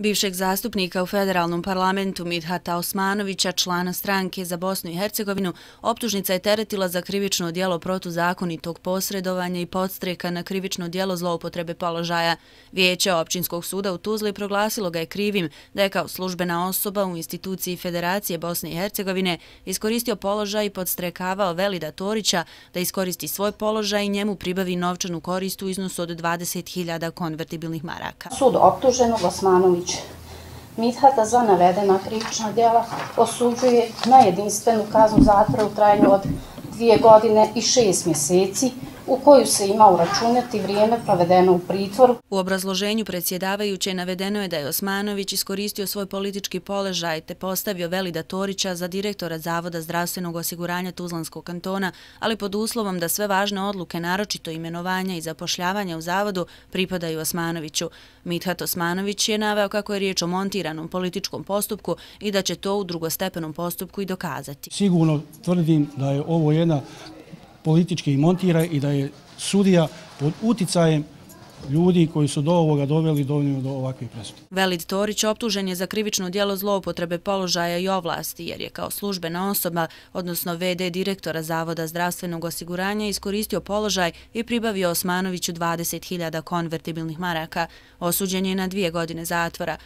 Bivšeg zastupnika u federalnom parlamentu Midhata Osmanovića, člana stranke za Bosnu i Hercegovinu, optužnica je teretila za krivično djelo protuzakonitog posredovanja i podstreka na krivično djelo zloupotrebe položaja. Vijeće Općinskog suda u Tuzli proglasilo ga je krivim da je kao službena osoba u instituciji Federacije Bosne i Hercegovine iskoristio položaj i podstrekavao Velida Torića da iskoristi svoj položaj i njemu pribavi novčanu korist u iznosu od 20.000 konvertibilnih maraka. Sud optuženog Osmanovića Midhata za navedena krivična djela osuđuje na jedinstvenu kaznu zatvora u trajanju od 2 godine i 6 mjeseci, u koju se ima uračunati vrijeme provedeno u pritvoru. U obrazloženju predsjedavajuće navedeno je da je Osmanović iskoristio svoj politički položaj te postavio Velida Torića za direktora Zavoda zdravstvenog osiguranja Tuzlanskog kantona, ali pod uslovom da sve važne odluke, naročito imenovanja i zapošljavanja u zavodu, pripadaju Osmanoviću. Midhat Osmanović je naveo kako je riječ o montiranom političkom postupku i da će to u drugostepenom postupku i dokazati. Sigurno tvrdim da je ovo jedna politički montira i da je sudija pod uticajem ljudi koji su do ovoga doveli do ovakve presude. Velid Torić optužen je za krivično djelo zloupotrebe položaja i ovlasti jer je kao službena osoba, odnosno VD direktora Zavoda zdravstvenog osiguranja, iskoristio položaj i pribavio Osmanoviću 20.000 konvertibilnih maraka. Osuđen je na 2 godine zatvora.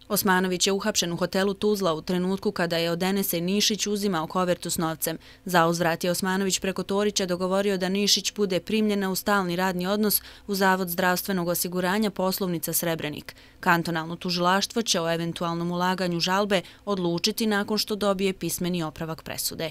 Osmanović je uhapšen u hotelu Tuzla u trenutku kada je od Enese Nišić uzimao kovertu s novcem. Za uzvrat je Osmanović preko Torića dogovorio da Nišić bude primljena u stalni radni odnos u Zavod zdravstvenog osiguranja Poslovnica Srebrenik. Kantonalno tužilaštvo će o eventualnom ulaganju žalbe odlučiti nakon što dobije pismeni opravak presude.